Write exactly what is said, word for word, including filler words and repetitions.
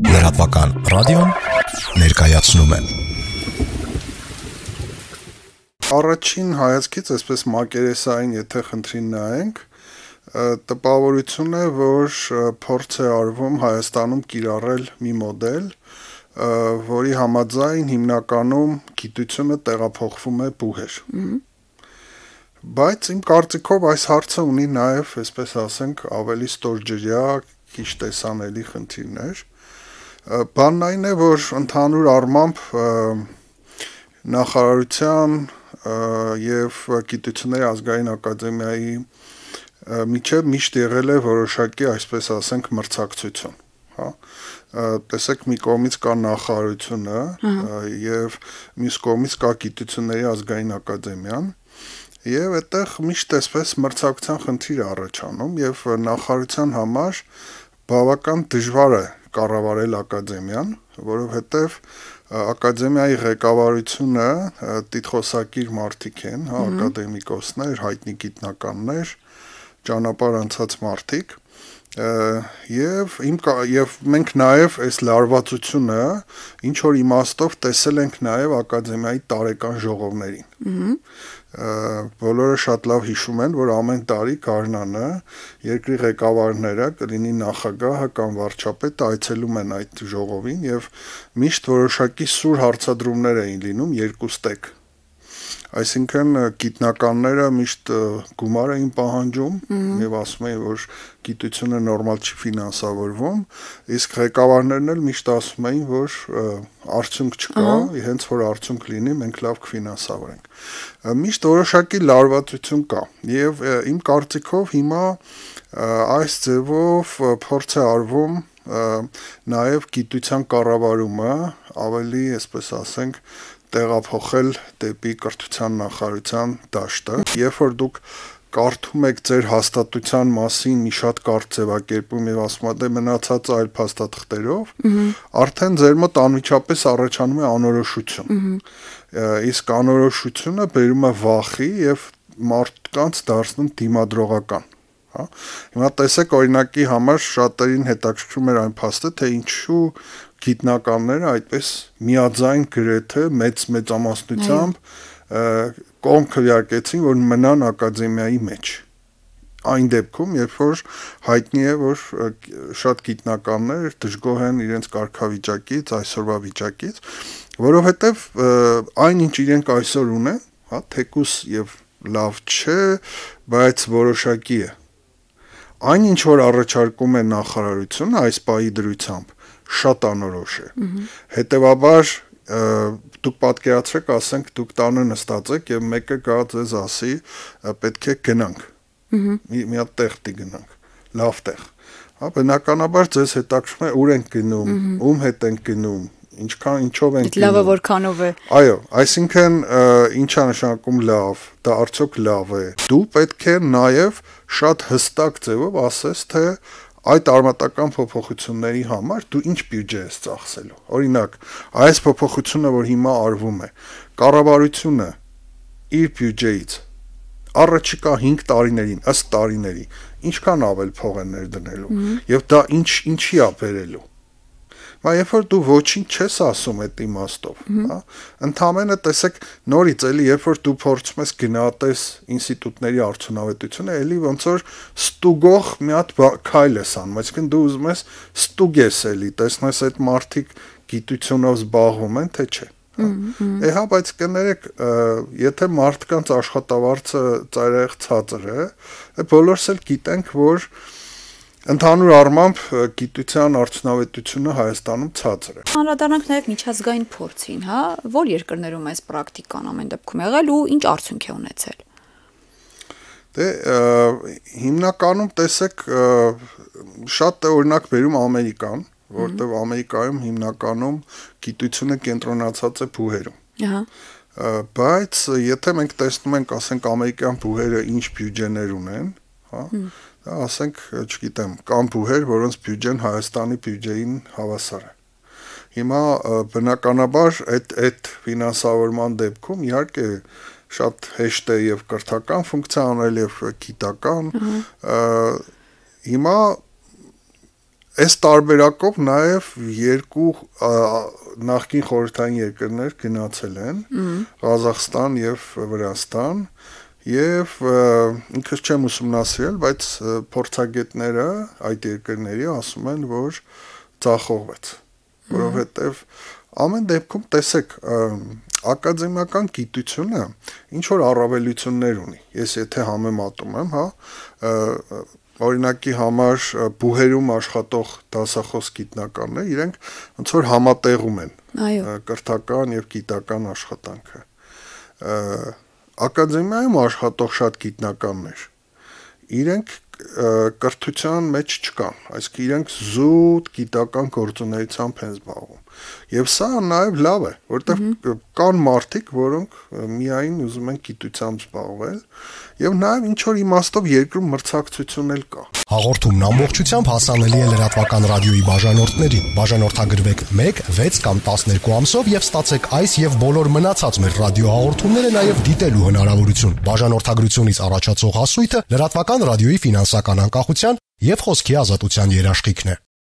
Լրատվական ռադիոն ներկայացնում է։ Առաջին հայացքից այսպես մակերեսային եթե խնդրին նայենք, տպավորություն է, որ փորձ է արվում Հայաստանում կիրառել մի մոդել, որի համաձայն հիմնականում գիտությունը տեղափոխվում է բուհեր։ Բայց իմ կարծիքով այս հարցը ունի նաև, այսպես ասենք, ավելի ստորջրյա, քիչ տեսանելի խնդիրներ։ Բանն այն է, որ ընդհանուր առմամբ նախարարության եւ Գիտությունների ազգային ակադեմիայի միջև միշտ եղել է որոշակի, այսպես ասենք, մրցակցություն, հա։ Տեսեք, մի կողմից կա նախարարությունը եւ մյուս կողմից կա Գիտությունների ազգային ակադեմիան, եւ այդտեղ միշտ այսպես մրցակցության խնդիր է առաջանում եւ նախարարության համար բավական դժվար է կառավարել ակադեմիան, որովհետեւ ակադեմիայի ղեկավարությունը տիտղոսակիր մարդիկ են, հա, ակադեմիկոսներ, հայտնի գիտնականներ, ճանապարհ անցած մարդիկ, եւ իմ եւ մենք նաեւ այս լարվածությունը ինչ որ իմաստով տեսել ենք նաեւ ակադեմիայի տարեկան ժողովներին։ Բոլորը շատ լավ հիշում են, որ ամեն տարի գարնանը երկրի ղեկավարները, կլինի նախագահը կամ վարչապետը, այցելում են այդ ժողովին եւ միշտ որոշակի սուր հարցադրումներ էին լինում երկուստեք։ Այսինքն գիտնականները միշտ գումար էին պահանջում եւ ասում էին, որ գիտությունը նորմալ չի ֆինանսավորվում, իսկ ղեկավարներն էլ միշտ ասում էին, որ արդյունք չկա, հենց որ արդյունք լինի, մենք լավ կֆինանսավորենք։ Միշտ որոշակի լարվածություն կա եւ իմ կարծիքով հիմա այս ձևով փորձ է արվում նաեւ գիտության կառավարումը ավելի, այսպես ասենք, տեղափոխել դեպի կրթության նախարարության դաշտը, երբ որ դուք կարդում եք ձեր հաստատության մասին մի շատ կարճ ձևակերպում եւ ասում եք, դե մնացած այլ փաստաթղթերով, արդեն ձեր մոտ անմիջապես առաջանում է անորոշություն։ Իսկ անորոշությունը բերում է վախի եւ մարդկանց դարձնում դիմադրողական։ Հա։ Հիմա տեսեք, օրինակի համար շատերին հետաքրքրում էր այն փաստը, թե ինչու գիտնականները այդպես միաձայն գրեթե մեծ մեծամասնությամբ կողմ քվեարկեցին, որ մնան ակադեմիայի մեջ։ Այն դեպքում, երբ որ հայտնի է, որ շատ գիտնականներ դժգոհ են իրենց կարգավիճակից, այսօրվա վիճակից, որովհետև այն ինչ իրենք այսօր ունեն, հա, թեկուս եւ լավ չէ, բայց որոշակի է։ Այն ինչ որ առաջարկում է նախարարությունը այս պահի դրությամբ, շատ անորոշ է։ Հետևաբար դուք պատկերացրեք, ասենք դուք տանը նստած եք եւ մեկը գա ձեզ ասի, պետք է գնանք։ Մի հատ տեղ դի գնանք, լավ տեղ։ Հա, բնականաբար ձեզ հետաքրքրում է ուր ենք գնում, ում հետ ենք գնում, ինչքան ինչով ենք գնում։ Լավը որքանով է։ Այո, այսինքն ինչա նշանակում լավ, դա արդյոք լավ է։ Դու պետք է նաեւ շատ հստակ ձևով ասես, թե այդ արմատական փոփոխությունների համար դու ինչ բյուջե ես ծախսելու։ Օրինակ, այս փոփոխությունը, որ հիմա արվում է, կառավարությունը իր բյուջեից առաջիկա հինգ տարիներին, ըստ տարիների, ինչքան ավել փող է ներդնելու եւ դա ինչ ինչի է բերելու։ Բայց երբ որ դու ոչինչ չես ասում այդ իմաստով, հա, ընդհանրապես տեսեք նորից էլի, երբ որ դու փորձում ես գնահատես ինստիտուտների արդյունավետությունը, էլի ոնց որ ստուգող մի հատ քայլ ես անում, այսինքն դու ուզում ես ստուգես էլի, տեսնես այդ մարդիկ գիտությունով զբաղվում են, թե չէ։ Է հա, բայց կներեք, եթե մարդկանց աշխատավարձը ծայրահեղ ցածր է, բոլորս էլ գիտենք, որ ընդհանուր առմամբ գիտության արդյունավետությունը Հայաստանում ցածր է։ Անդրադառնանք նաև միջազգային փորձին, հա, որ երկրներում այս պրակտիկան ամեն դեպքում եղել ու ինչ արդյունք է ունեցել։ Դե հիմնականում տեսեք շատ է օրինակ բերում Ամերիկան, որտեղ Ամերիկայում հիմնականում գիտությունը կենտրոնացած է բուհերում։ Ահա։ Բայց եթե մենք տեսնում ենք, ասենք ամերիկյան բուհերը ինչ բյուջեներ ունեն, հա, ասենք, չգիտեմ, կան բուհեր, որոնց բյուջեն Հայաստանի բյուջեին հավասար է։ Հիմա բնականաբար այդ այդ ֆինանսավորման դեպքում իհարկե շատ հեշտ է եւ կրթական ֆունկցիա անել եւ գիտական։ Հիմա Այս տարբերակով նաև երկու նախկին խորհրդային երկրներ գնացել են, Ղազախստան եւ Վրաստան, եւ ինքս չեմ ուսումնասիրել, բայց փորձագետները այդ երկրների ասում են, որ ձախողվեց, որովհետեւ ամեն դեպքում տեսեք, ակադեմիական գիտությունը ինչ որ առավելություններ ունի։ Ես եթե համեմատում եմ, հա, օրինակի համար բուհերում աշխատող դասախոս գիտնականներ, իրենք ոնց որ համատեղում են կրթական եւ գիտական աշխատանքը։ Ակադեմիայում աշխատող շատ գիտնականներ, իրենք կրթության մեջ չկան, այսինքն իրենք զուտ գիտական գործունեությամբ են զբաղվում։ Եվ սա նաև լավ է, որովհետև կան մարդիկ, որոնք միայն ուզում են գիտությամբ զբաղվել, եւ նաև ինչ որ իմաստով երկրում մրցակցություն էլ կա։ Հաղորդումն ամբողջությամբ հասանելի է լրատվական ռադիոյի բաժանորդներին։ Բաժանորդագրվեք մեկ, վեց կամ տասներկու ամսով եւ ստացեք այս եւ բոլոր մնացած մեր ռադիոհաղորդումները նաև դիտելու հնարավորություն։ Բաժանորդագրությունից առաջացող հասույթը լրատվական ռադիոյի ֆինանսական անկախության եւ խոսքի ազատության երաշխիքն է։